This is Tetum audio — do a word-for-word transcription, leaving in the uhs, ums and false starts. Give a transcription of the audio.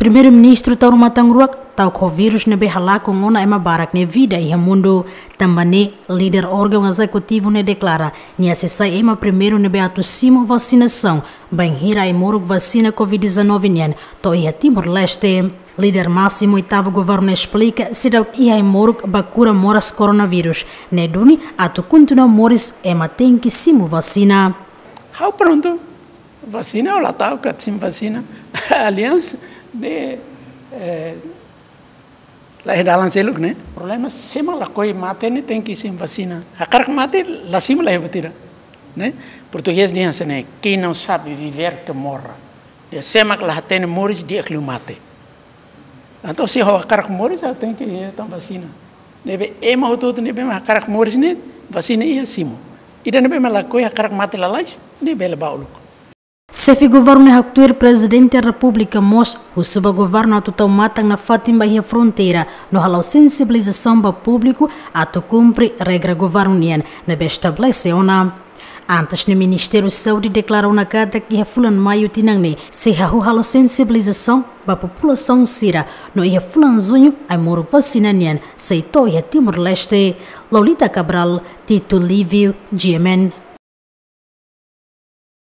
Primeiru-Ministru Taur Matan Ruak ta'uk ho vírus ne'ebé halakon ona ema barak nia vida iha mundu. Tanba ne'e, líder órgaun ezekutivu ne'e deklara nia sei sai ema primeiru ne'ebé atu simu vasinasaun bainhira ai-moruk vasina covid dezanove nian to'o iha Timor-Leste. Líder másimu oitavu governu esplika seidauk iha ai-moruk ba kura moras koronavírus, ne'e duni atu kontinua moris ema tenke simu vasina. Ha'u prontu, vasina ha'u la ta'uk atu simu vasina. Aliansa ne'e, eh, la iha dalan seluk ne'e. Problema, se ema lakohi mate ne'e tenke simu vasina. Hakarak mate la simu, la iha buat ida, ne'e. Portugés dehan hanesan ne'e: "Quem não sabe viver, que morra." Dehan se ema la hatene moris, di'ak liu mate. Entaun se ha'u hakarak moris, ha'u tenke hetan vasina. Ne'ebé ema hotu-hotu ne'ebé ema hakarak moris ne'e, vasina iha, simu. Ida ne'ebé ema lakohi, hakarak mate lalais, ne'e bele ba uluk. Xefe governu ne'e haktuir Prezidente Repúblika mós husu ba governu atu tau matan nafatin ba iha fronteira no hala'o sensibilizasaun ba públiku atu kumpre regra governu nian ne'ebé estabelese ona. Antes ne'e, Ministériu Saúde deklara ona katak iha fulan Maiu tinan ne'e sei hahú halo sensibilizasaun ba populasaun sira, no iha fulan Juñu ai-moruk vasina nian sei to'o iha Timor-Leste. Lolita Cabral, Tito Livio, G M N.